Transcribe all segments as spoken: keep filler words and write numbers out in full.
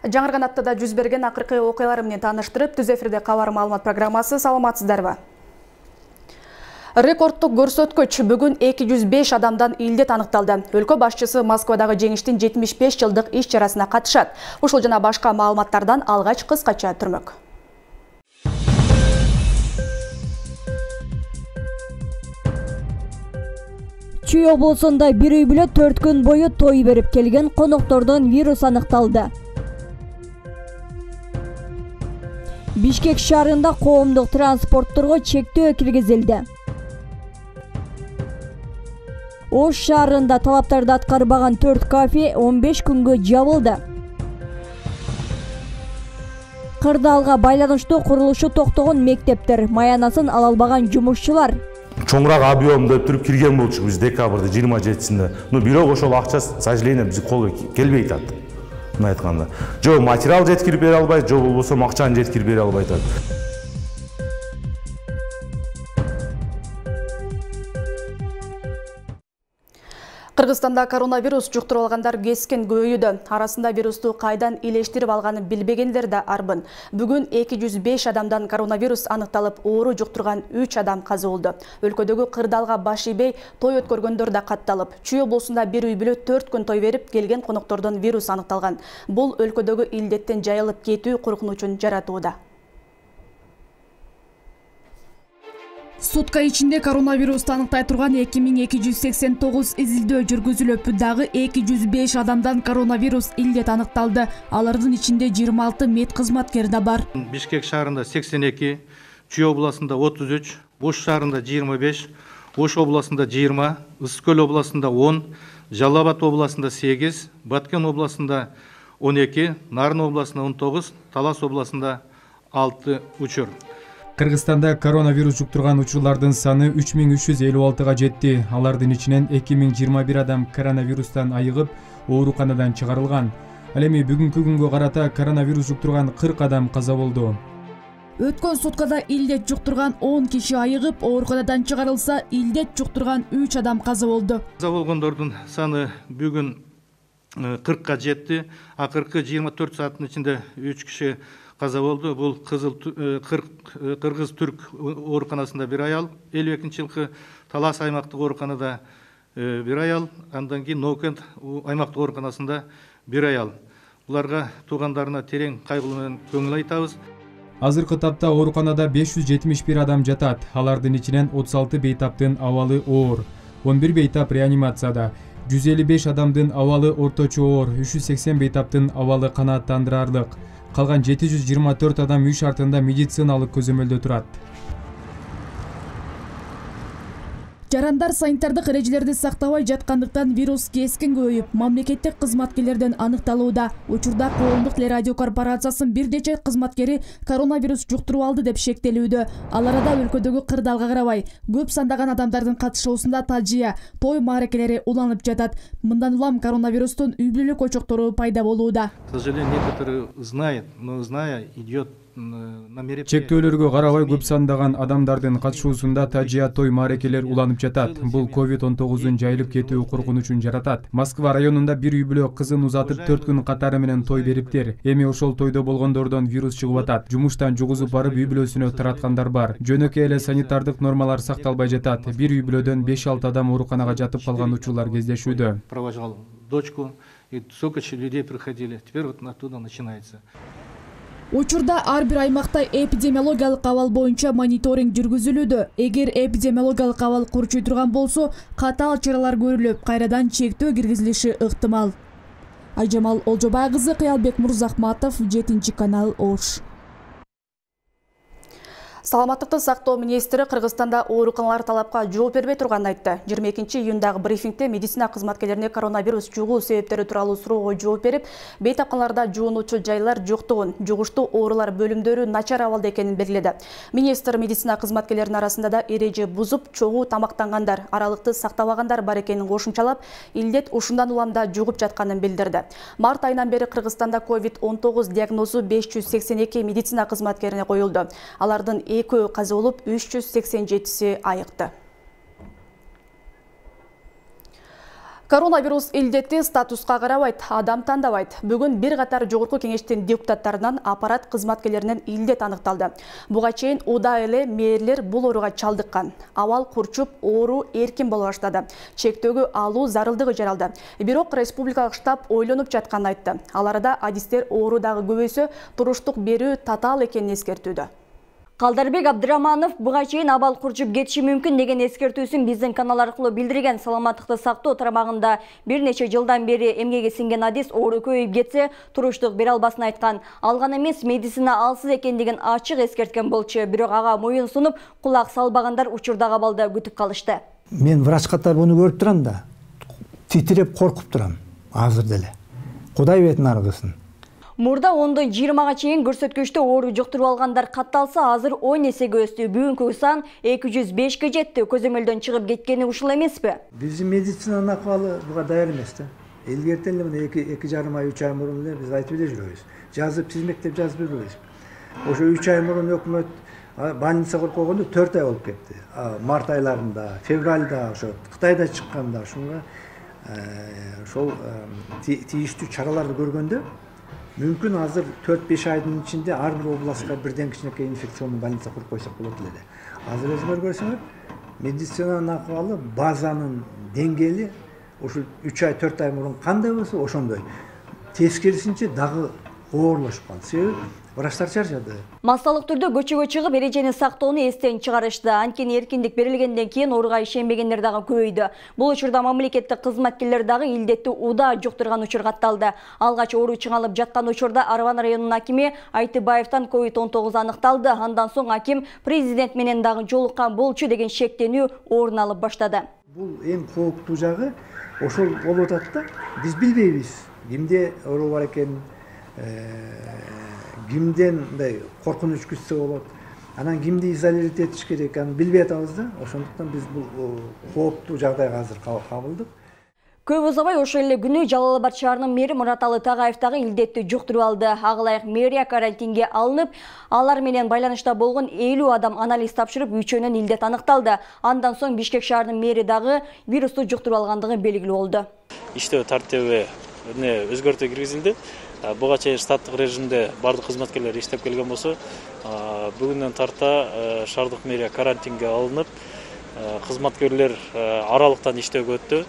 Жаңырган аптада жүз берген акыркы окуялар менен тааныштырып, түз эфирде кабар маалымат программасы. Саламатсыздарбы? Рекордтук көрсөткүч бүгүн эки жүз беш адамдан илдет аныкталды. Өлкө башчысы Москвадагы жеңиштин жетимиш беш жылдык иш чарасына катышат. Ушул жана башка маалыматтардан алгач кыскача түрмөк. Чүй облусунда бир үй бүлө төрт күн бою той берип келген коноктордон вирус аныкталды. Бишкек шаарында коомдук транспортторго чектөө киргизилди. Ош шаарында талаптарды аткарбаган төрт кафе он беш күнгө жабылды. Кырдаалга байланыштуу курулушу токтогон мектептер, маянасын ала албаган жумушчулар. Чоңураак объем деп туруп кирген болчук биз декабрда жыйырма жетисинде. Ну бирок ошол акча, к сожалению, биз колго келбей атат. Мына айтканда, жо материал жеткирип бере албайт, жо болбосо акчаны жеткирип бере албайт атат. Кыргызстанда коронавирус жуктуруп алгандар кескен көбөйүүдө. Арасында вирусту кайдан илештирип алганын билбегендер да арбын. Бүгүн эки жүз беш адамдан коронавирус аныкталып, оору жуктурган үч адам каза болду. Өлкөдөгү Кырдаалга баш ийбей той өткөргөндөр да катталып, Чүй облусунда бир үй бүлө төрт күн той берип келген коноктордон вирус аныкталган. Бул өлкөдөгү илдеттен жайылып кетүү коркунучун жаратууда. Сутка ичинде коронавирусту аныктай турган эки миң эки жүз сексен тогуз изилдөө жүргүзүлүп, дагы эки жүз беш адамдан коронавирус илдет аныкталды. Алардын ичинде жыйырма алты мед кызматкери да бар. Бишкек шаарында сексен эки, Чүй областында отуз үч, Ош шаарында жыйырма беш, Ош областында жыйырма, Ысык көл областында он, Жалал Абад областында сегиз, Баткен областында он эки, Нарын областында он тогуз, Талас областында алты учур. Кыргызстанда коронавирус жуктурган учурлардын саны үч миң үч жүз элүү алтыга жетти. Алардын ичинен эки миң жыйырма бир адам коронавирустан айыгып, ооруканадан чыгарылган. Ал эми бүгүнкү күнгө карата коронавирус жуктурган кырк адам каза болду. Өткөн суткада илдет жуктурган он киши айыгып, ооруканадан чыгарылса, илдет жуктурган үч адам каза болду. Каза болгондордун саны бүгүн кыркка жетти. Акыркы жыйырма төрт сааттын ичинде үч киши каза болду. Бул Кызыл Кыргыз Түрк ооруканасында бир аял, элүү экинчи жылкы Талас аймактык ооруканада бир аял, андан кийин Ноокент аймактык ооруканасында бир аял. Буларга туугандарына терең кайгылуу менен көңүл айтабыз. Азыркы тапта ооруканада беш жүз жетимиш бир адам жатат. Алардын ичинен отуз алты бейтаптын абалы оор, он бир бейтап реанимацияда, жүз элүү беш адамдын абалы орточо оор, үч жүз сексен бейтаптын абалы канааттандырарлык. Калган жети жүз жыйырма төрт адам үй шартында медициналык көзөмөлдө турат. Жарандар санитардык эрежелерди сактабай жаткандыктан вирус кескен көбөйүп, мамлекеттик кызматкерлерден аныкталууда. Учурда коомдук телерадио корпорациясынын бир нече кызматкери коронавирус жуктуруп алды деп шектелүүдө. Ал арада өлкөдөгү Кырдаалга карабай көп сандаган адамдардын катышуусунда тажыя, той мааракелери уланып жатат. Мындан улам коронавирустун үй бүлөлүк очоктору пайда болууда. К сожалению, некоторые знают, но зная идет. Чектөөлөргө карабай көп сандаган адамдардын катышуусунда тажыя, той мааракелер уланып жатат. Бул ковид он тогуздун жайылып кетүү коркунучун жаратат. Москва районунда бир үй бүлө кызын узатып төрт күн катары менен той бериптир. Эми ошол тойдо болгондордон вирус чыгып атат. Жумуштан жугузуп барып үй бүлөсүнө тараткандар бар. Жөнөкөй эле санитардык нормалар сакталбай жатат. Бир үй бүлөдөн беш алты адам ооруканага жатып калган учурлар кездешүүдө. Провожал дочку, и столько людей приходили. Теперь вот оттуда начинается. Учурда ар бир аймакта эпидемиологиялык абал боюнча мониторинг жүргүзүлүүдө. Эгер эпидемиологиялык абал курчуй турган болсо, катаал чаралар көрүлүп, кайрадан чектөө киргизилиши ыктымал. Айжамал Олжобай кызы, Кыялбек Мурзахматов, жетинчи канал, Ош. Саламаттыкты сактоо министри Кыргызстанда ооруканалар талапка жооп бербей турганын айтты. жыйырма экинчи июндагы брифингде медицина кызматкерлерине коронавирус жугуу себептери тууралуу суроого жооп берип, бейтапканаларда жуунуучу жайлар жоктугун, жугуштуу оорулар бөлүмдөрү начар абалда экенин белгиледи. Министр медицина кызматкерлеринин арасында да эреже бузуп, чогуу тамактангандар, аралыкты сактабагандар бар экенин кошумчалап, илдет ушундан улам да жугуп жатканын билдирди. Март айынан бери Кыргызстанда ковид он тогуз диагнозу беш жүз сексен эки медицина кызматкерине коюлду. Алардын экөө каза болуп, үч жүз сексен жетиси айыкты. Коронавирус илдети статуска карабайт, адам тандабайт. Бүгүн бир катар жогорку кеңештин депутаттарынан аппарат кызматкерлеринен илдет аныкталды. Буга чейин уда эле мэрлер бул ооруга чалдыккан. Абал курчуп, оору эркин боло баштады. Чектөөгө алуу зарылдыгы жаралды. Бирок республикалык штаб ойлонуп жатканын айтты. Ал арада адистер оору дагы көбөйсө, туруштук берүү татаал экенин эскертүүдө. Калдарбек Абдыраманов буга чейин абал курчуп кетиши мүмкүн деген эскертүүсүн биздин канал аркылуу билдирген. Саламаттыкты сактоо тармагында бир нече жылдан бери эмгеге сиңген адис оору көбөйүп кетсе, туруштук бере албасын айткан. Алган эмес, медицина алсыз экендигин ачык эскерткен болчу. Бирок ага моюн сунуп, кулак салбагандар учурдагы абалда күтүп калышты. Мен врач катары буну көрүп турам да, титиреп коркуп турам азыр деле. Кудай бетин аргысын. Мурда ондон жыйырмага чейин көрсөткүчтө оору жуктуруп алгандар катталса, азыр он эсеге өстү. Бүгүнкү сан эки жүз бешке жетти. Көзөмөлдөн чыгып кеткени ушул эмеспи? Биздин медицинанын акыбалы буга даяр эмес да. Илгерти эле мына эки жарым ай, үч ай мурун эле биз айтып эле жүрөбүз. Жазып тизмектеп жазып бербейбиз. Ошо үч ай мурун өкмөт больницага койгондо төрт ай болуп кетти. Март айларында, февралда, ошо Кытайда чыкканда ошонго ошол тийиштүү чараларды көргөндө мүмкүн азыр төрт беш айдын ичинде ар бир областка бирден кичинекей инфекционный больница куруп койсок болот эле. Азыр өзүңөр көрсөңөр, медицинанын акыбалы, базанын деңгээли ушул үч ай, төрт ай мурун кандай болсо ошондой. Тескерисинче дагы оорлошуп калды. Себеби врачтар чарчады. Массалык түрдө көчөгө чыгып эрежени сактоону эстен чыгарышты. Анткени эркиндик берилгенден кийин ооруга ишенбегендер дагы көбөйдү. Бул учурда мамлекеттик кызматкерлер дагы илдетти уда жуктурган учур катталды. Алгач оору чыңалып жаткан учурда Арван районунун акими Айтыбаевтан ковид он тогуз аныкталды. Андан соң аким президент менен дагы жолуккан болчу деген шектенүү орун алып баштады. Бул эң кооптуу жагы ошол болуп атат да. Биз билбейбиз кимде оору бар экенин, кимден мындай коркунуч күтсө болот, анан кимди изолировать этиш керек, аны билбей атабыз да. Ошондуктан биз бул кооптуу жагдайга азыр кабылдык. Көп узабай ошол эле күнү Жалал Абад шаарынын мэри Мураталы Тагаев дагы илдетти жуктуруп алды. Ага ылайык мэрия карантинге алынып, алар менен байланышта болгон элүү адам анализ тапшырып, үчөөнүн илдет аныкталды. Андан соң Бишкек шаарынын мэри дагы вирусту жуктуруп алгандыгы белгилүү болду. Иштөө тартиби өзгөртүү киргизилди. Буга чейин штаттык режимде бардык кызматкерлер иштеп келген болсо, бүгүндөн тарта шаардык мэрия карантинге алынып, кызматкерлер аралыктан иштөөгө өттү.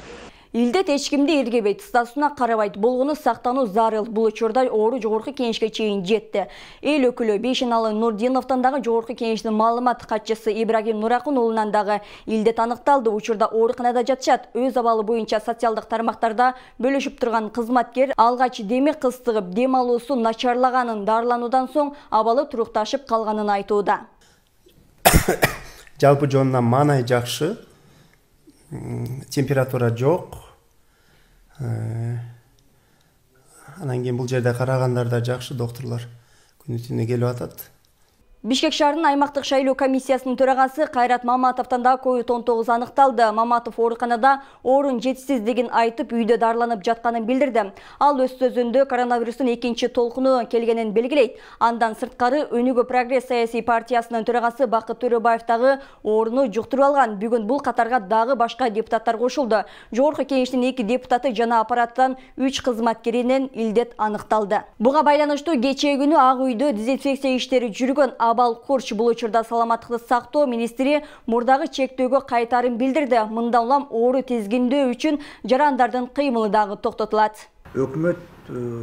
Илдет эч кимди иргебейт, статусуна карабайт, болгону сактануу зарыл. Бул учурда оору жогорку кеңешке чейин жетти. Эл өкүлү Бейшеналы Нурдиновдон дагы жогорку кеңештин маалымат катчысы Ибрагим Нуракун уулунан дагы илдет аныкталды. Учурда ооруканада жатышат. Өз абалы боюнча социалдык тармактарда бөлүшүп турган кызматкер алгач деми кыстыгып, дем алуусу начарлаганын, дарылануудан соң абалы турукташып калганын айтууда. Жалпы жонунан маанай жакшы. Температура жок. Анан кийин бул жерде карагандар да жакшы, докторлор күнү түнү келип атат. Бишкек шаарынын аймактык шайлоо комиссиясынын төрагасы Кайрат Маматовдон да ковид он тогуз аныкталды. Маматов ооруканада орун жетишсиздигин айтып, үйдө дарыланып жатканын билдирди. Ал өз сөзүндө коронавирустун экинчи толкуну келгенин белгилейт. Андан сырткары Өнүгүү Прогресс саясий партиясынын төрагасы Бакыт Төрөбаев дагы ооруну жуктуруп алган. Бүгүн бул катарга дагы башка депутаттар кошулду. Жогорку кеңештин эки депутаты жана аппараттан үч кызматкеринен илдет аныкталды. Буга байланыштуу кечээ күнү Ак үйдө дезинфекция иштери жүргөн Абал Курч бул учурда саламаттыкты сактоо министри мурдагы чектөөгө кайтарын билдирди. Мындан улам оору тизгиндөө үчүн жарандардын кыймылы дагы токтотулат. Өкмөт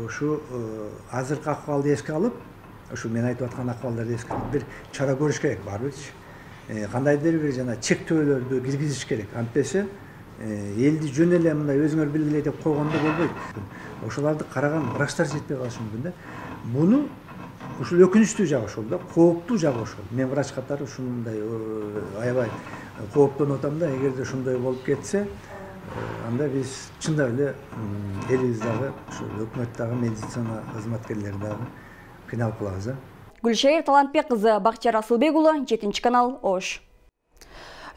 ушу азыркы акыбалды эске алып, ушу мен айтып аткан акыбалдарды эске алып бир чара көрүш керек барбычы. Кандайдыр бир жана чектөөлөрдү киргизиш керек. Антпесе элди жөн эле мындай өзүңөр билгиле деп койгондо болбойт. Ошолорду караган врачтар жетпей калышы мүмкүн да. Буну ушул өкүнүчтүү жагы ошол да, кооптуу жагы ошол. Мен врач катары ушундай аябай кооптонуп атам да, эгерде ушундай болуп кетсе, анда биз чындап эле элибиз дагы, ошол өкмөт дагы, медицина кызматкерлери дагы кыйналып калабыз да. Гүлшайыр Талантбек кызы, Бакчар Асылбек уулу, жетинчи канал, Ош.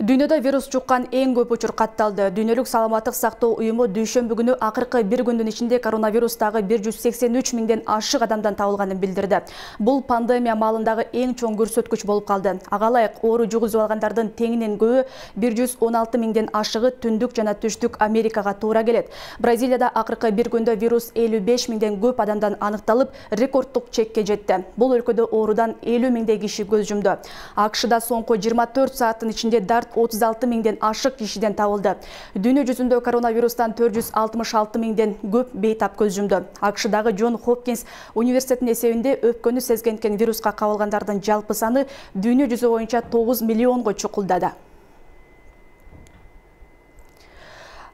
Дүйнөдө вирус жуккан эң көп учур катталды. Дүйнөлүк саламаттык сактоо уюму дүйшөмбү күнү акыркы бир күндүн ичинде коронавирустагы бир жүз сексен үч миңден ашык адамдан табылганын билдирди. Бул пандемия маалындагы эң чоң көрсөткүч болуп калды. Ага ылайык оору жугузуп алгандардын теңинен көбү бир жүз он алты миңден ашыгы түндүк жана түштүк Америкага туура келет. Бразилияда акыркы бир күндө вирус элүү беш миңден көп адамдан аныкталып, рекорддук чекке жетти. Бул өлкөдө оорудан элүү миңдей киши көз жумду. АКШда соңку жыйырма төрт сааттын ичинде дарт отуз алты миңден ашык кишиден табылды. Дүйнө жүзүндө коронавирустан төрт жүз алтымыш алты миңден көп бейтап көз жумду. АКШдагы Джон Хопкинс университетинин эсебинде өпкөнү сезгенкен вируска кабылгандардын жалпы саны дүйнө жүзү боюнча тогуз миллионго чукулдады.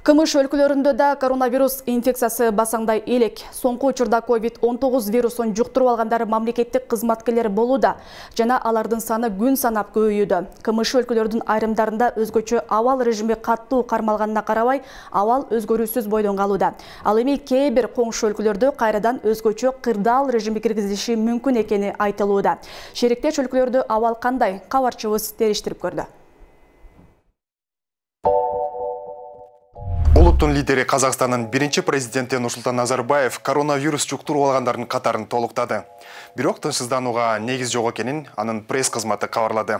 Кымыш өлкөлөрүндө да коронавирус инфекциясы басаңдай элек. Соңку учурда ковид он тогуз вирусун жуктуруп алгандар мамлекеттик кызматкерлер болууда жана алардын саны күн санап көбөйүүдө. Кымыш өлкөлөрдүн айрымдарында өзгөчө абал режими каттуу кармалганына карабай, абал өзгөрүүсүз бойдон калууда. Ал эми кээ бир коңшу өлкөлөрдө кайрадан өзгөчө кырдаал режими киргизилиши мүмкүн экени айтылууда. Шериктеш өлкөлөрдө абал кандай? Кабарчыбыз териштирип көрдү. Улуттун лидери Казакстандын биринчи президенти Нурсултан Назарбаев коронавирус жуктуруп алгандардын катарын толуктады. Бирок тынчсызданууга негиз жок экенин анын пресс кызматы кабарлады.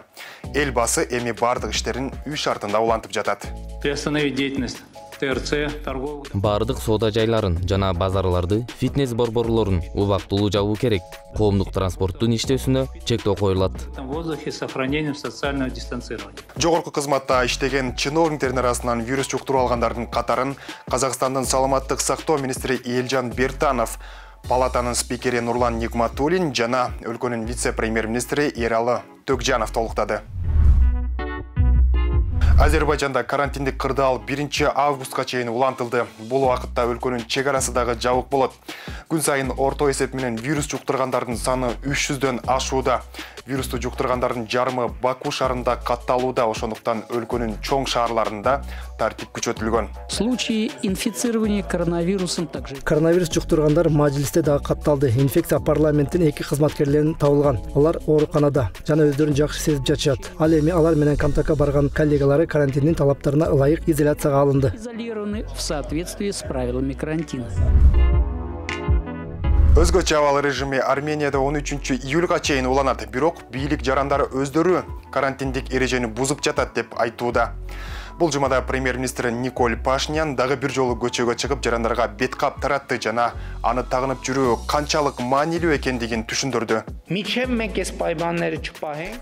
Эл басы эми бардык иштерин үй шартында улантып жатат. Приостановить деятельность ТРЦ, торговых. Бардык соода жайларын жана базарларды, фитнес борборлорун убактылуу жабуу керек. Коомдук транспорттун иштөөсүнө чектөө коюлат. В воздухе с сохранением социального дистанцирования. Жогорку кызматта иштеген чиновниктердин арасынан вирус жуктуруп алгандардын катарын Казакстандын саламаттык сактоо министри Элжан Бертанов, палатанын спикери Нурлан Нигматуллин жана өлкөнүн вице-премьер-министри Эралы Төкжанов толуктады. Азербайжанда карантиндик кырдаал биринчи августка чейин улантылды. Бул убакытта өлкөнүн чек арасы дагы жабык болот. Күн сайын орто эсеп менен вирус жуктургандардын саны үч жүздөн ашууда. Вирусту жуктургандардын жарымы Баку шаарында катталууда, ошондуктан өлкөнүн чоң шаарларында тартип күчөтүлгөн. Случаи инфицирования коронавирусом также. Коронавирус жуктургандар мажилисте дагы катталды. Инфекция парламенттин эки кызматкерлеринен табылган. Алар ооруканада жана өздөрүн жакшы сезип жатышат. Ал эми алар менен Камтакка барган коллегалары карантиндин талаптарына ылайык изоляцияга алынды. Изолированы в соответствии с правилами карантина. Өзгөчө абал режими Арменияда он үчүнчү июлга чейин уланат. Бирок бийлик жарандары өздөрү карантиндик эрежени бузуп жатат деп айтууда. Бул жумада премьер-министр Николь Пашинян дагы бир жолу көчөгө чыгып жарандарга бет кап таратты жана аны тагынып жүрүү канчалык маанилүү экендигин түшүндүрдү.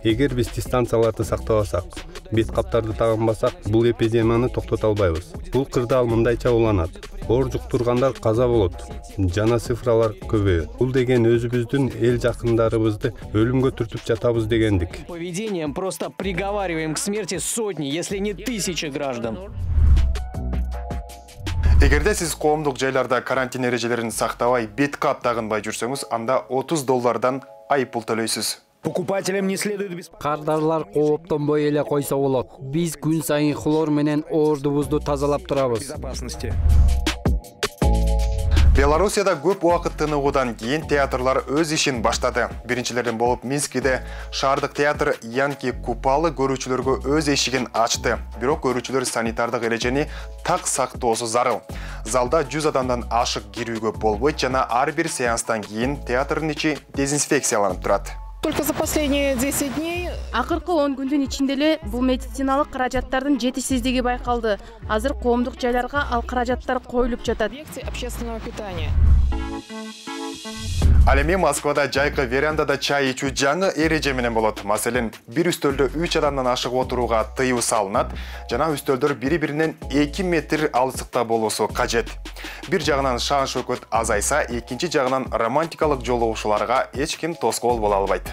Эгер биз дистанцияларды сактабасак, бет каптарды тагынбасак, бул эпидемияны токтото албайбыз. Бул кырдаал мындайча уланат. Оор жуктургандар каза болот, жана цифралар көбөйөт. Бул деген өзүбүздүн эл жакындарыбызды өлүмгө түртүп жатабыз дегендик. Поведением просто приговариваем к смерти сотни, если не тысячи граждан. Эгерде сиз коомдук жайларда карантин эрежелерин сактабай, бет кап тагынбай жүрсөңүз, анда отуз доллардан айыппул төлөйсүз. Покупателям не следует беспокоиться. Кардарлар кооптонбой эле койсо болот. Биз күн сайын хлор менен оордубузду тазалап турабыз. Белоруссияда көп убакыт тыныгуудан кийин театрлар өз ишин баштады. Биринчилерден болуп Минскиде шаардык театр Янки Купалы көрүүчүлөргө өз эшигин ачты. Бирок көрүүчүлөр санитардык эрежени так сактоосу зарыл. Залда жүз адамдан ашык кирүүгө болбойт жана ар бир сеанстан кийин театрдын ичи дезинфекцияланып турат. Только за последние десять дней. Акыркы он күндүн ичинде эле бул медициналык каражаттардын жетишсиздиги байкалды. Азыр коомдук жайларга ал каражаттар коюлуп жатат. Общественного питания. Ал эми Москвада жайкы верандада чай ичүү жаңы эреже менен болот. Маселен, бир үстөлдө үч адамдан ашык отурууга тыюу салынат, жана үстөлдөр бири-биринен эки метр алыстыкта болуусу кажет. Бир жагынан шаан шөкөт азайса, экинчи жагынан романтикалык жолугушууларга эч ким тоскоол боло албайт.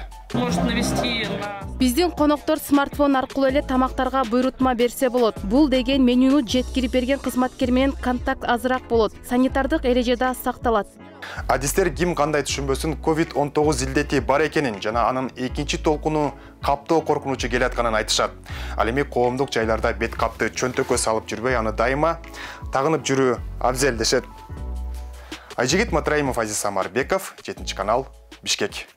Биздин коноктор смартфон аркылуу эле тамактарга буйрутма берсе болот. Бул деген менюну жеткирип берген кызматкер менен контакт азыраак болот. Санитардык эреже да сакталат. Адистер ким кандай түшүнбөсүн ковид он тогуз илдети бар экенин жана анын экинчи толкуну каптоо коркунучу келатканын айтышат. Ал эми коомдук жайларда бет капты чөнтөккө салып жүрбөй, аны дайыма тагынып жүрүү абзел дешет. Айжигит Матраимов, Азиз Самарбеков, жетинчи канал, Бишкек.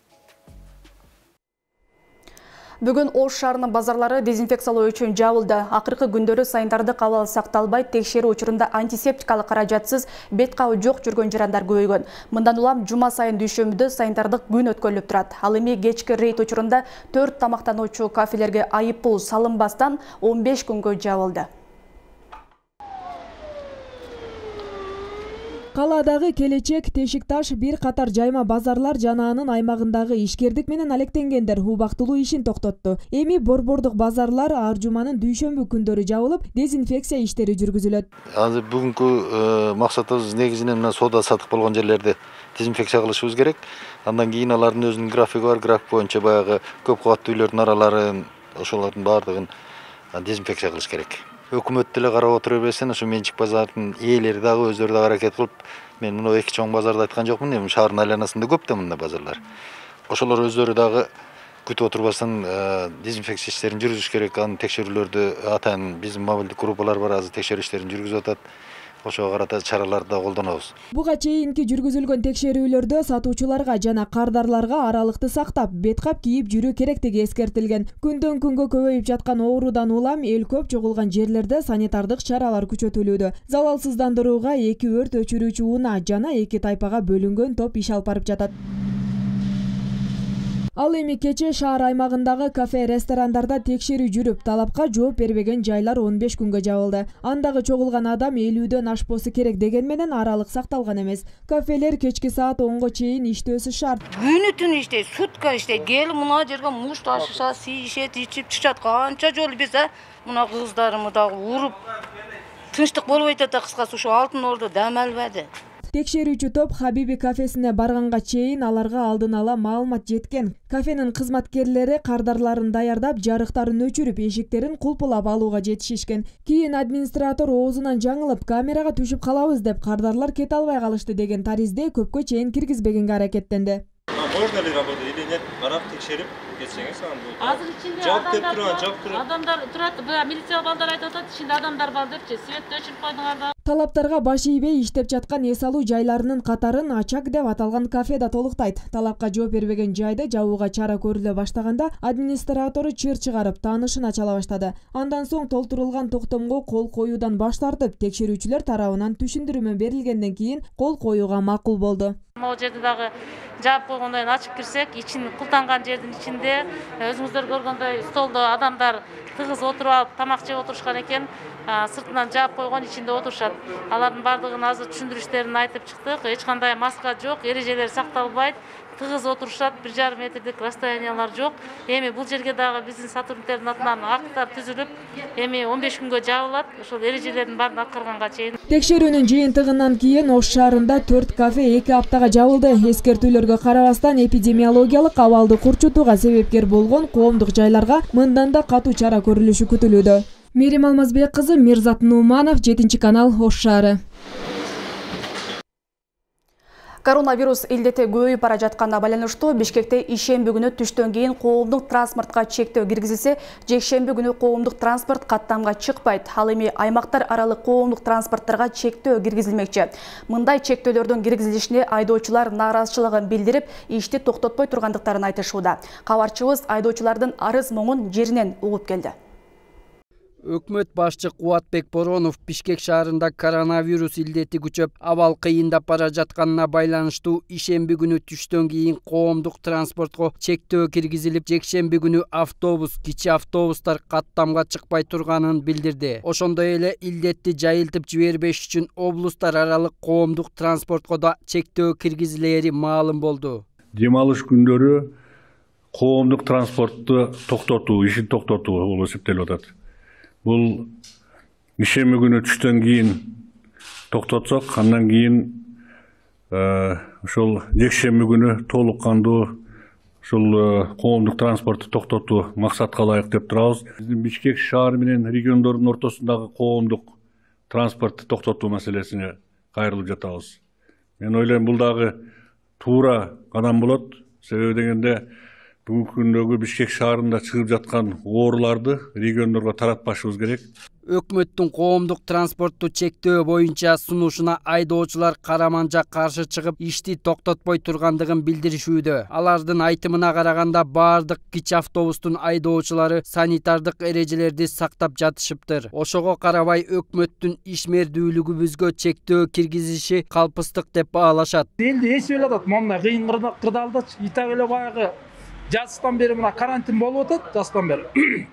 Бүгүн Ош шаарынын базарлары дезинфекциялоо үчүн жабылды. Акыркы күндөрү сайындардык абал сакталбай, текшерүү учурунда антисептикалык каражатсыз бет кабы жок жүргөн жарандар көбөйгөн. Мындан улам жума сайын дүйшөмбүдө сайындардык күн өткөрүлүп турат. Ал эми кечки рейд учурунда төрт тамактануучу кафелерге айып пул салынбастан он беш күнгө жабылды. Калаадагы Келечек, Тешикташ, бир катар жайма базарлар жана анын аймагындагы ишкердик менен алектенгендер убактылуу ишин токтотту. Эми борбордук базарлар ар жуманын дүйшөмбү күндөрү жабылып, дезинфекция иштери жүргүзүлөт. Азыр бүгүнкү максатыбыз негизинен мына соода сатык болгон жерлерди дезинфекция кылышыбыз керек. Андан кийин алардын өзүнүн графиги бар, график боюнча баягы көп кабаттуу үйлөрдүн араларын, ошолордун баардыгын дезинфекция кылыш керек. Өкмөт деле карап отура берсен, ошо менчик базардын ээлери дагы өздөрү дагы аракет кылып, мен мына эки чоң базарды айткан жокмун, эми шаардын айланасында көп да мындай базарлар. Ошолор өздөрү дагы күтүп отурбастан дезинфекция иштерин жүргүзүш керек. Анын текшерүүлөрдү атайын биздин мобилдик группалар бар, азыр текшерүү иштерин жүргүзүп атат. Ошого карата чараларды да колдонобуз. Буга чейинки жүргүзүлгөн текшерүүлөрдө сатуучуларга жана кардарларга аралыкты сактап, беткап кийип жүрүү керектиги эскертилген. Күндөн күнгө көбөйүп жаткан оорудан улам эл көп чогулган жерлерде санитардык чаралар күчөтүлүүдө. Залалсыздандырууга эки өрт өчүрүүчү унаа жана эки тайпага бөлүнгөн топ иш алып барып жатат. Ал эми кече шаар аймагындагы кафе, ресторандарда текшерүү жүрүп, талапка жооп бербеген жайлар он беш күнгө жабылды. Андагы чогулган адам элүүдөн ашпосу керек деген менен аралык сакталган эмес. Кафелер кечки саат онго чейин иштөөсү шарт. Күнү түнү иштейт, сутка иштейт. Келип мына жерге муш ташышат, сийишет, ичип чыгышат. Канча жолу биз мына кыздарымы дагы уруп тынчтык болбой атат, кыскасы ушу Алтын Ордо дам албады. Текшерүүчү топ Хабиби кафесине барганга чейин аларга алдын ала маалымат жеткен. Кафенин кызматкерлери кардарларын даярдап, жарыктарын өчүрүп, эшиктерин кулпулап алууга жетишишкен. Кийин администратор оозунан жаңылып, камерага түшүп калабыз деп кардарлар кете албай калышты деген таризде көпкө чейин киргизбегенге аракеттенди. Можно ли работать или нет? Карап текшерип кетсеңиз анан болот. Азыр ичинде адамдар турат, милиция балдар айтып атат, ичинде адамдар бар депчи, светти өчүрүп койдуңар да. Талаптарга баш ийбей иштеп жаткан эс алуу жайларынын катарын Ачак деп аталган кафе да толуктайт. Талапка жооп бербеген жайды жабууга чара көрүлө баштаганда администратору чыр чыгарып, таанышын ачала баштады. Андан соң толтурулган токтомго кол коюудан баш тартып, текшерүүчүлөр тарабынан түшүндүрмө берилгенден кийин кол коюуга макул болду. Могу жерде дагы жаап койгондон кийин ачып кирсек, ичин култанган жердин ичинде өзүңүздөр көргөндөй столдо адамдар тыгыз отуруп алып тамак жеп отурушкан экен. Сыртынан жаап койгон, ичинде отурушат. Алардын бардыгын азыр түшүндүрүштөрүн айтып чыктык. Эч кандай маска жок, эрежелер сакталбайт. Тыгыз отурушат, бир жарым метрдик расстояниялар жок. Эми бул жерге дагы биздин сотрудниктердин атынан акттар түзүлүп, эми он беш күнгө жабылат. Ошол эрежелердин баарын аткарганга чейин. Текшерүүнүн жыйынтыгынан кийин Ош шаарында төрт кафе эки аптага жабылды. Эскертүүлөргө карабастан эпидемиологиялык абалды курчутууга себепкер болгон коомдук жайларга мындан да катуу чара көрүлүшү күтүлүүдө. Мерим Алмазбек кызы, Мирзат Нуманов, жетинчи канал, Ош шаары. Коронавирус илдети көбөйүп бара жатканына байланыштуу Бишкекте ишемби күнү түштөн кийин коомдук транспортко чектөө киргизилсе, жекшемби күнү коомдук транспорт каттамга чыкпайт. Ал эми аймактар аралык коомдук транспорттарга чектөө киргизилмекчи. Мындай чектөөлөрдүн киргизилишине айдоочулар нааразычылыгын билдирип, ишти токтотпой тургандыктарын айтышууда. Кабарчыбыз айдоочулардын арыз моңун жеринен угуп келди. Өкмөт башчы Кубатбек Боронов Бишкек шаарында коронавирус илдети күчөп, абал кыйындап бара жатканына байланыштуу ишемби күнү түштөн кийин коомдук транспортко чектөө киргизилип, жекшемби күнү автобус, кичи автобустар каттамга чыкпай турганын билдирди. Ошондой эле илдетти жайылтып жибербеш үчүн облустар аралык коомдук транспортко да чектөө киргизилери маалым болду. Дем алыш күндөрү коомдук транспортту токтотуу, ишин токтотуу болуп эсептелип атат. Бул ишемби күнү түштөн кийин токтотсок, андан кийин ошол жекшемби күнү толук кандуу ушул коомдук транспортту токтотуу максатка ылайык деп турабыз. Биздин Бишкек шаары менен региондордун ортосундагы коомдук транспортту токтотуу маселесине кайрылып жатабыз. Мен ойлойм, бул дагы туура кадам болот. Себеби дегенде бүгүнкү күндөгү Бишкек шаарында чыгып жаткан ооруларды региондорго таратпашыбыз керек. Өкмөттүн коомдук транспортту чектөө боюнча сунушуна айдоочулар караманча каршы чыгып, ишти токтотпой тургандыгын билдиришүүдө. Алардын айтымына караганда баардык кичи автобустун айдоочулары санитардык эрежелерди сактап жатышыптыр. Ошого карабай өкмөттүн ишмердүүлүгүбүзгө чектөө киргизиши калпыстык деп баалашат. Элди эсеп эле атат, мына кыйын кырдаалдачы итак эле баягы жаздан бери мына карантин болуп атат, жаздан бери.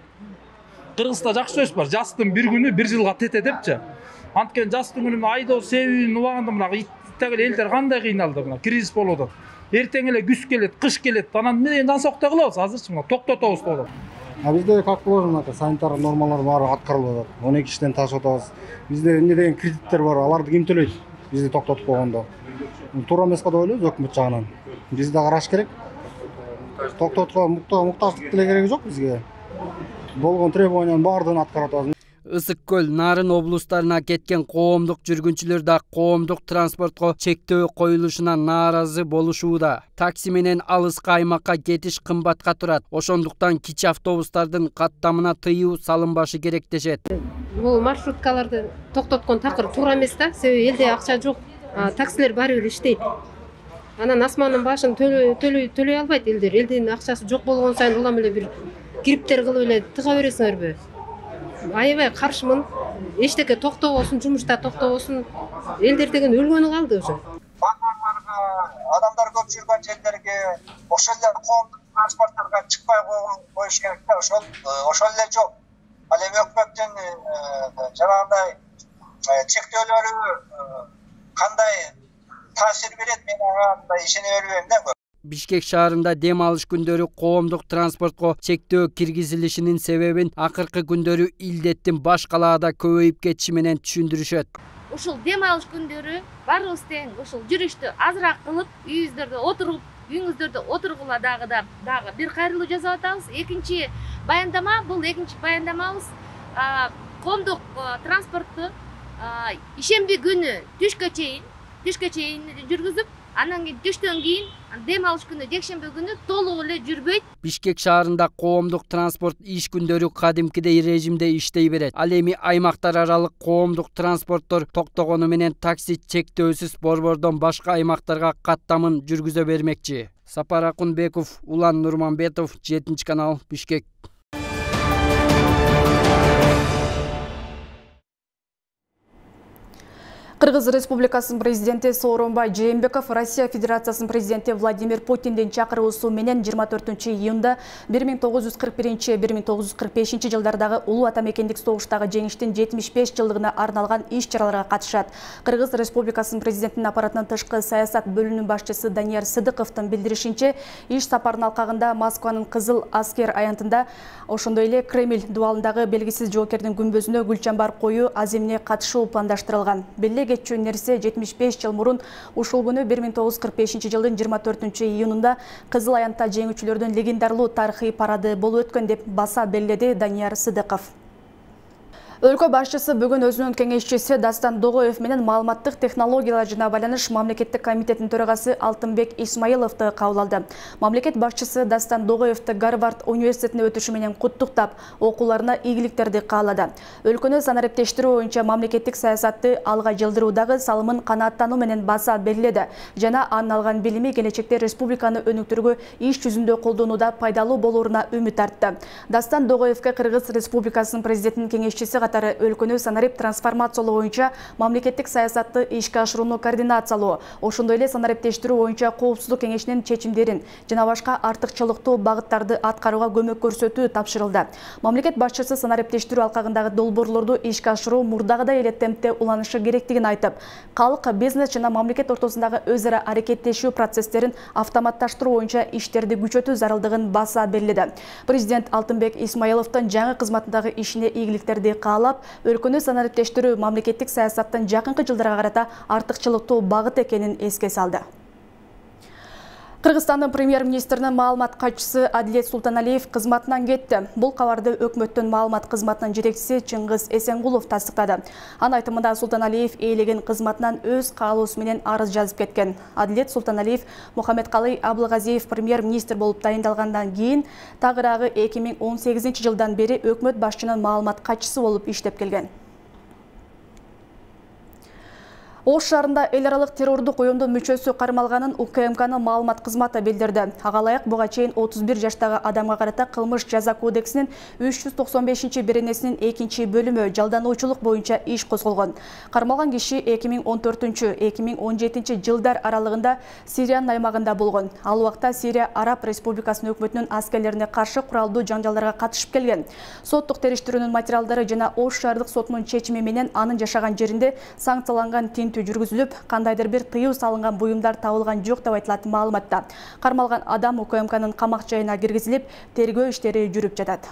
Кыргызда жакшы сөз бар, жастын бир күнү бир жылга тете депчи. Анткени жастын күнү айдоо себебин убагында мына итак эле элдер кандай кыйналды, мына кризис болуп атат. Эртең эле күз келет, кыш келет, анан эмне жансоктой кылабыз азырчы мына токтотобуз деп атат. А бизде как положено, санитар нормалар баары аткарылып атат. он эки иштен ташып атабыз. Бизде эмне деген кредиттер бар, аларды ким төлөйт? Бизди токтотуп койгондо. Туура эмес деп ойлойбуз өкмөт жагынан. Бизди караш керек. Токтотко муктаждык деле кереги жок бизге. Болгон требованиянын баардыгын аткарып атабыз. Ысык көл, Нарын облустарына кеткен коомдук жүргүнчүлөр да коомдук транспортко чектөө коюлушуна нааразы болушууда. Такси менен алыска аймакка кетиш кымбатка турат. Ошондуктан кичи автобустардын каттамына тыюу салынбашы керек дешет. Бул маршруткаларды токтоткон такыр туура эмес да, себеби элде акча жок. Таксилер баары бир иштейт. Анан асмандын башын төлөй төлөй албайт элдер. Элдин акчасы жок болгон сайын улам эле бир кириптер кылып эле тыга бересиңерби? Аябай каршымын. Эчтеке токтобосун, жумушта токтобосун. Элдер деген өлгөнү калды уже. Базарларга, адамдар көп жүргөн жерлерге, ошол эле коомдук транспорттарга чыкпай коюш керек да, ошол ошол эле жок. Ал эми өкмөттүн жанагындай чектөөлөрү кандай таасир берет, мен ага ишене бербейм да. Бишкек шаарында дем алыш күндөрү коомдук транспортко чектөө киргизилишинин себебин акыркы күндөрү илдеттин баш калаада көбөйүп кетиши менен түшүндүрүшөт. Ушул дем алыш күндөрү баарыбыз тең ушул жүрүштү азыраак кылып, үйүңүздөрдө отуруп, үйүңүздөрдө отургула дагы да дагы бир кайрылуу жасап атабыз. Экинчи баяндама, бул экинчи баяндамабыз коомдук транспортту ишемби күнү түшкө чейин, түшкө чейин жүргүзүп, анан кийин түштөн кийин дем алыш күнү жекшемби күнү толук эле жүрбөйт. Бишкек шаарында коомдук транспорт иш күндөрү кадимкидей режимде иштей берет. Ал эми аймактар аралык коомдук транспорттор токтогону менен такси чектөөсүз борбордон башка аймактарга каттамын жүргүзө бермекчи. Сапар Акунбеков, Улан Нурманбетов, жетинчи канал, Бишкек. Кыргыз Республикасынын президенти Сооронбай Жээнбеков Россия Федерациясынын президенти Владимир Путиндин чакыруусу менен жыйырма төртүнчү июнда бир миң тогуз жүз кырк биринчи — бир миң тогуз жүз кырк бешинчи жылдардагы улуу ата мекендик согуштагы жеңиштин жетимиш беш жылдыгына арналган иш-чараларга катышат. Кыргыз Республикасынын президентинин аппаратынын тышкы саясат бөлүмүнүн башчысы Данияр Сыдыковдун билдиришинче, иш сапарынын алкагында Москванын Кызыл Аскер аянтында, ошондой эле Кремль дубалындагы белгисиз жоокердин күмбөзүнө гүл чамбар коюу аземине катышуу пландаштырылган. Кетчү нерсе жетимиш беш жыл мурун ушул күнү бир миң тогуз жүз кырк бешинчи жылдын жыйырма төртүнчү июнунда Кызыл аянтта жеңүүчүлөрдүн легендарлуу тарыхый парады болуп өткөн деп баса белгиледи Данияр Сыдыков. Өлкө башчысы бүгүн өзүнүн кеңешчиси Дастан Догоев менен маалыматтык технологиялар жана байланыш мамлекеттик комитетинин төрагасы Алтынбек Исмаиловду кабыл алды. Мамлекет башчысы Дастан Догоевду Гарвард университетине өтүшү менен куттуктап, окууларына ийгиликтерди каалады. Өлкөнү санариптештирүү боюнча мамлекеттик саясатты алга жылдыруудагы салымын канааттануу менен баса белгиледи жана анын алган билими келечекте республиканы өнүктүрүүгө иш жүзүндө колдонууда пайдалуу болооруна үмүт артты. Дастан Догоевге Кыргыз Республикасынын президентинин кеңешчиси өлкөнү санарип трансформациялоо боюнча мамлекеттик саясатты ишке ашырууну координациялоо, ошондой эле санариптештирүү боюнча коопсуздук кеңешинин чечимдерин жана башка артыкчылыктуу багыттарды аткарууга көмөк көрсөтүү тапшырылды. Мамлекет башчысы санариптештирүү алкагындагы долбоорлорду ишке ашыруу мурдагыдай эле темпте уланышы керектигин айтып, калк, бизнес жана мамлекет ортосундагы өз ара аракеттешүү процесстерин автоматташтыруу боюнча иштерди күчөтүү зарылдыгын баса белгиледи. Президент Алтынбек Исмаиловдун жаңы кызматындагы ишине ийгиликтерди каалап, өлкөнү санариптештирүү мамлекеттик саясаттын жакынкы жылдарга карата артыкчылыктуу багыт экенин эске салды. Кыргызстандын премьер-министринин маалымат катчысы Адилет Султаналиев кызматынан кетти. Бул кабарды өкмөттүн маалымат кызматынын жетекчиси Чыңгыз Эсенгулов тастыктады. Анын айтымында Султаналиев ээлеген кызматынан өз каалоосу менен арыз жазып кеткен. Адилет Султаналиев Мухаммедкалый Абылгазиев премьер-министр болуп дайындалгандан кийин тагыраагы эки миң он сегизинчи жылдан бери өкмөт башчынын маалымат катчысы болуп иштеп келген. Ош шаарында эл аралык террордук уюмдун мүчөсү кармалганын У К М К'нын маалымат кызматы билдирди. Ага ылайык буга чейин отуз бир жаштагы адамга карата кылмыш жаза кодексинин үч жүз токсон бешинчи беренесинин экинчи бөлүмү жалдануучулук боюнча иш козголгон. Кармалган киши эки миң он төртүнчү эки миң он жетинчи жылдар аралыгында Сириянын аймагында болгон. Ал убакта Сирия Араб Республикасынын өкмөтүнүн аскерлерине каршы куралдуу жаңжалдарга катышып келген. Соттук териштирүүнүн материалдары жана Ош шаардык сотунун чечими менен анын жашаган жеринде санкцияланган жүргүзүлүп, кандайдыр бир тыюу салынган буюмдар табылган жок деп айтылат маалыматта. Кармалган адам У К М К'нын камак жайына киргизилип, тергөө иштери жүрүп жатат.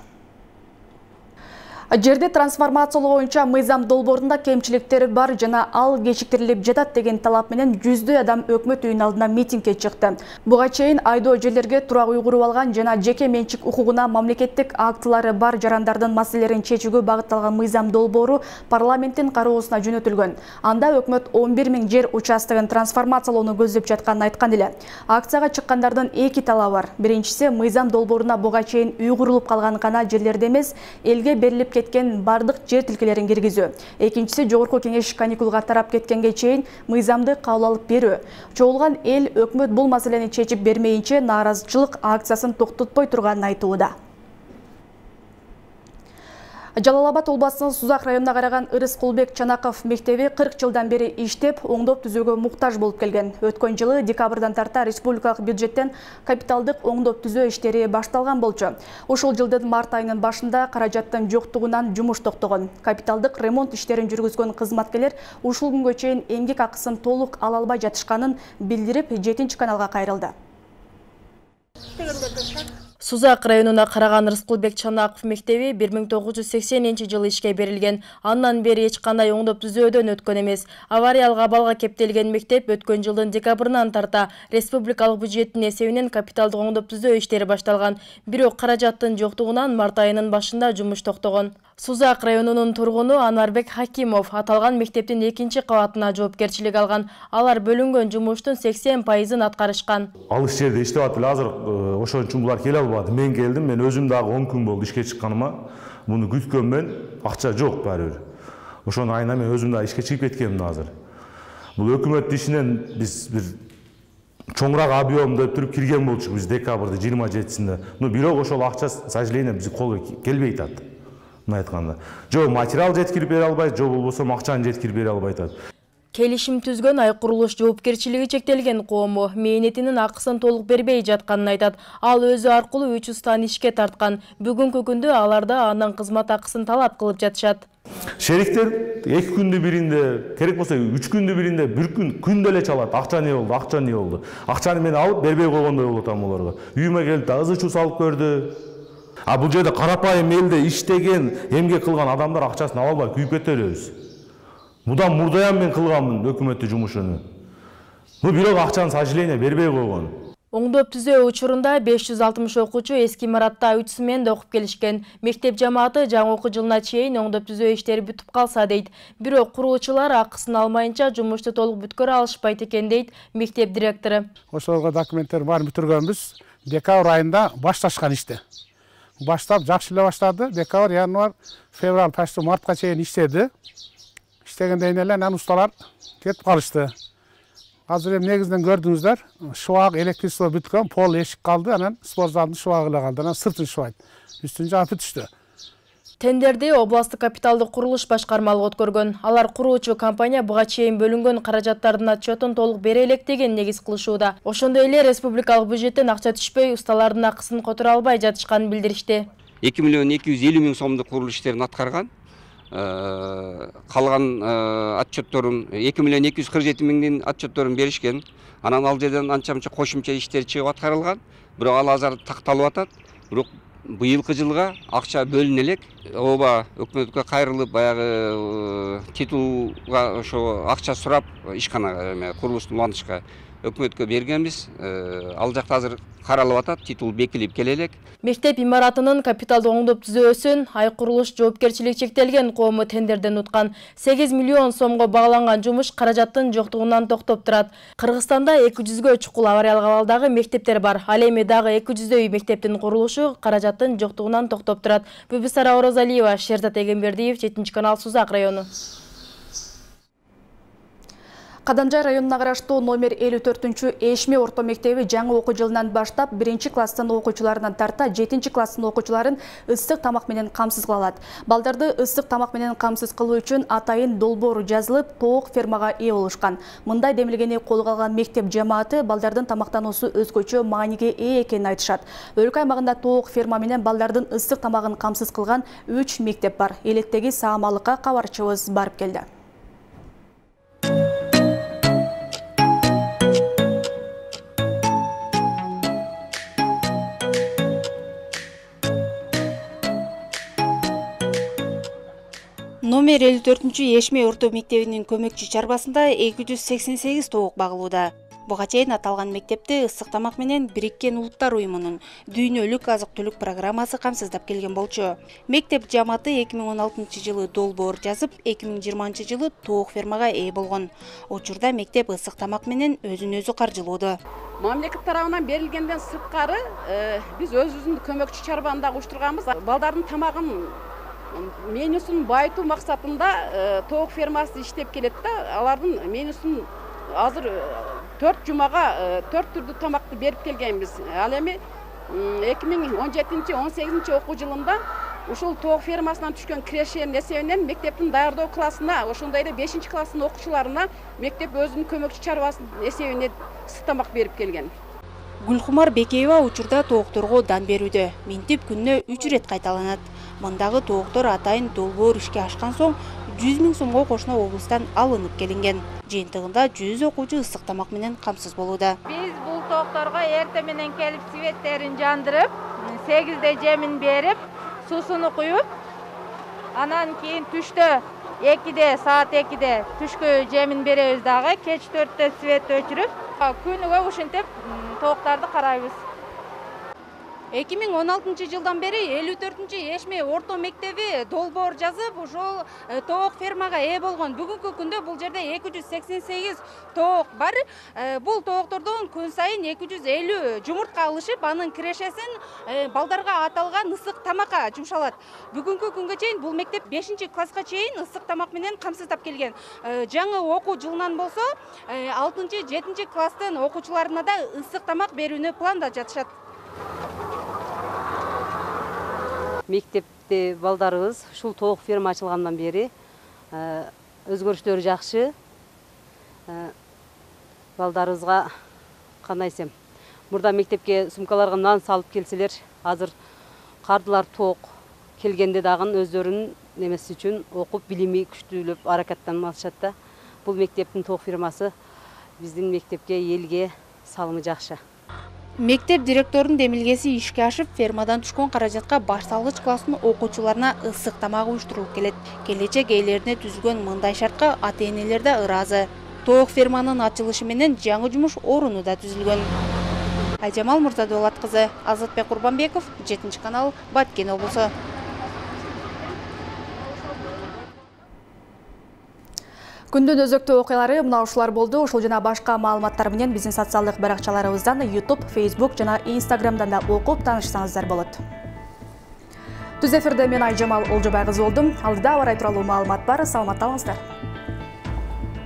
Жерди трансформациялоо боюнча мыйзам долбоорунда кемчиликтер бар жана ал кечиктирилип жатат деген талап менен жүздөй адам өкмөт үйүнүн алдына митингге чыкты. Буга чейин айдоо жерлерге турак үй куруп алган жана жеке менчик укугуна мамлекеттик актылары бар жарандардын маселелерин чечүүгө багытталган мыйзам долбоору парламенттин кароосуна жөнөтүлгөн. Анда өкмөт он бир миң жер участогун трансформациялоону көздөп жатканын айткан эле. Акцияга чыккандардын эки талабы бар. Биринчиси, мыйзам долбооруна буга чейин үй курулуп калган гана жерлерде эмес, элге берилип кеткен бардык жер тилкелерин киргизүү. Экинчиси, жогорку кеңеш каникулга тарап кеткенге чейин мыйзамды кабыл алып берүү. Чогулган эл өкмөт бул маселени чечип бермейинче нааразычылык акциясын токтотпой турганын айтууда. Жалал Абад областынын Сузак районуна караган Ырыскулбек Чанаков мектеби кырк жылдан бери иштеп, оңдоп түзүүгө муктаж болуп келген. Өткөн жылы декабрдан тарта республикалык бюджеттен капиталдык оңдоп түзөө иштери башталган болчу. Ошол жылдын март айынын башында каражаттын жоктугунан жумуш токтогон. Капиталдык ремонт иштерин жүргүзгөн кызматкерлер ушул күнгө чейин эмгек акысын толук ала албай жатышканын билдирип, жетинчи каналга кайрылды. Сузак районуна караган Ырыскулбек Чанаков мектеби бир миң тогуз жүз сексенинчи жылы ишке берилген. Андан бери эч кандай оңдоп түзөөдөн өткөн эмес. Авариялык абалга кептелген мектеп өткөн жылдын декабрынан тарта республикалык бюджеттин эсебинен капиталдык оңдоп түзөө иштери башталган. Бирок каражаттын жоктугунан март айынын башында жумуш токтогон. Сузак районунун тургуну Анарбек Хакимов аталган мектептин экинчи кабатына жоопкерчилик алган. Алар бөлүнгөн жумуштун сексен пайызын аткарышкан. Алыс жерде иштеп атып эле азыр ошон үчүн булар келе албады. Мен келдим, мен өзүм дагы он күн болду ишке чыкканыма. Муну күткөнмөн, акча жок баары бир. Ошону айына мен өзүм дагы ишке чыгып кеткенмин азыр. Бул өкмөт ишинен биз бир чоңураак объемдо туруп кирген болчук биз декабрда жыйырма жетисинде. Но бирок ошол акча, к сожалению, биздин колго келбей атат. Айтканда, жо материал жеткирип бере албайт, жо болбосо акчаны жеткирип бере албайт атат. Келишим түзгөн ай курулуш жоопкерчилиги чектелген коому мээнетинин акысын толук бербей жатканын айтат. Ал өзү аркылуу үч устан ишке тарткан. Бүгүнкү күндө аларда анын кызмат акысын талап кылып жатышат. Шериктер эки күндү биринде, керек болсо үч күндү биринде, бир күн күндө эле чалат. Акча не болду, акча не болду. Акчаны мен алып бербей койгондой болуп атам аларга. Үйүмө келип да ызы чуу салып көрдү. А бул жерде карапайым элде иштеген, эмгек кылган адамдар акчасын ала албай күйүп кете беребиз. Мудан мурдаям мен кылганмын өкмөттүн жумушуну. Ну бирок акчаны, к сожалению, бербей койгон. Оңдоп түзөө учурунда беш жүз алтымыш окуучу эски имаратта үч сменде окуп келишкен. Мектеп жамааты жаңы окуу жылына чейин оңдоп түзөө иштери бүтүп калса дейт. Бирок курулуучулар акысын алмайынча жумушту толук бүткөрө алышпайт экен дейт мектеп директору. Ошолго документтер баарын бүтүргөнбүз. Декабрь айында башташкан ишти. Баштап жакшы эле баштады. Декабрь, январь, февраль, почти мартка чейин иштеди. Иштегенден эле анан усталар кетип калышты. Азыр эми негизинен көрдүңүздөр, шубак, электричество бүткөн, пол эшик калды, анан спорт залдын шубагы эле калды. Анан сыртын шубайт. Үстүн жаап бүтүштү. Тендерди областык капиталдык курулуш башкармалыгы өткөргөн. Алар куруучу компания буга чейин бөлүнгөн каражаттардын отчетун толук бере электеген негиз кылышууда. Ошондой эле республикалык бюджеттен акча түшпөй, усталардын акысын которо албай жатышканын билдиришти. эки миллион эки жүз элүү миң сомдук курулуш иштерин аткарган. Калган отчетторун эки миллион эки жүз кырк жети миңдин отчетторун беришкен. Анан ал жерден анча-мынча кошумча иштер чыгып аткарылган. Бирок ал азыр такталып атат. Бирок быйылкы жылга акча бөлүнө элек. Оба өкмөткө кайрылып, баягы титулга ошо акча сурап ишкана курулушту улантышка өкмөткө бергенбиз. Ал жакта азыр каралып атат, титул бекилип келе элек. Мектеп имаратынын капиталды оңдоп түзөөсүн Ай курулуш жоопкерчилиги чектелген коому тендерден уткан сегиз миллион сомго багланган жумуш каражаттын жоктугунан токтоп турат. Кыргызстанда эки жүзгө чукул авариялык абалдагы мектептер бар. Ал эми дагы эки жүздөй мектептин курулушу каражаттын жоктугунан токтоп турат. Бибисара Орозалиева, Шерзат Эгембердиев, жетинчи канал, Сузак району. Кадамжай районуна караштуу номер элүү төртүнчү Эшме орто мектеби жаңы окуу жылынан баштап биринчи класстын окуучуларынан тарта жетинчи класстын окуучуларын ысык тамак менен камсыз кыла алат. Балдарды ысык тамак менен камсыз кылуу үчүн атайын долбоор жазылып, тоок фермага ээ болушкан. Мындай демилгени колго алган мектеп жамааты балдардын тамактануусу өзгөчө мааниге ээ экенин айтышат. Өлкө аймагында тоок ферма менен балдардын ысык тамагын камсыз кылган үч мектеп бар. Электеги саамалыкка кабарчыбыз барып келди. Номер элүү төртүнчү Эшме орто мектебинин көмөкчү чарбасында эки жүз сексен сегиз тоок багылууда. Буга чейин аталган мектепти ысык тамак менен Бириккен Улуттар уюмунун дүйнөлүк азык-түлүк программасы камсыздап келген болчу. Мектеп жамааты эки миң он алтынчы жылы долбоор жазып, эки миң жыйырманчы жылы тоок фермага ээ болгон. Учурда мектеп ысык тамак менен өзүн өзү каржылоодо. Мамлекет тарабынан берилгенден сырткары биз өзүбүздүн көмөкчү чарбаны дагы уштурганбыз. Балдардын тамагын менюсун байытуу максатында тоок фермасы иштеп келет да, алардын менюсун азыр төрт жумага төрт түрдүү тамакты берип келгенбиз. Ал эми эки миң он жетинчи он сегизинчи окуу жылында ушул тоок фермасынан түшкөн кирешенин эсебинен мектептин даярдоо классына, ошондой эле бешинчи класстын окуучуларына мектеп өзүнүн көмөкчү чарбасынын эсебинен ысык тамак берип келген. Гүлкумар Бекеева учурда тоокторго дан берүүдө. Минтип күнүнө үч ирет кайталанат. Мындагы тооктор атайын долбоор ишке ашкан соң жүз миң сомго кошуна облустан алынып келинген. Жыйынтыгында жүз окуучу ысык тамак менен камсыз болууда. Биз бул тоокторго эрте менен келип светтерин жандырып, сегизде жемин берип, суусуну куюп, анан кийин түштө экиде, саат экиде түшкү жемин беребиз дагы, кеч төрттө свет өчүрүп, күнүгө ушинтип тооктарды карайбыз. эки миң он алтынчы жылдан бери элүү төртүнчү Эшме орто мектеби долбоор жазып, ошол тоок фермага ээ болгон. Бүгүнкү күндө бул жерде эки жүз сексен сегиз тоок бар. Бул тооктордон күн сайын эки жүз элүү жумуртка алышып, анын кирешесин балдарга аталган ысык тамакка жумшалат. Бүгүнкү күнгө чейин бул мектеп бешинчи класска чейин ысык тамак менен камсыздап келген. Жаңы окуу жылынан болсо алтынчы жетинчи класстын окуучуларына да ысык тамак берүүнү пландап жатышат. Мектепте балдарыбыз ушул тоок ферма ачылгандан бери өзгөрүштөр жакшы. Балдарыбызга кандай десем, мурда мектепке сумкаларга нан салып келселер, азыр кардылар тоок келгенде дагы өздөрүнүн немеси үчүн окуп билими күчтүүлөп аракаттанып атышат да. Бул мектептин тоок фермасы биздин мектепке, элге салымы жакшы. Мектеп директорунун демилгеси ишке ашып, фермадан түшкөн каражатка баш салгыч класстын окуучуларына ысык тамак уюштурулуп келет. Келечек ээлерине түзүлгөн мындай шартка ата-энелер да ыраазы. Тоок ферманын ачылышы менен жаңы жумуш оруну да түзүлгөн. Айжамал Мурзадулат кызы, Азатбек Курбанбеков, жетинчи канал, Баткен облусу. Күндүн өзөктүү окуялары мына ушулар болду. Ушул жана башка маалыматтар менен биздин социалдык баракчаларыбыздан YouTube, Facebook жана Instagramдан да окуп таанышсаңыздар болот. Түз эфирде мен Айжамал Олжобай кызы болдум. Алдыда аба ырайы тууралуу маалымат бар. Саламатта болуңуздар.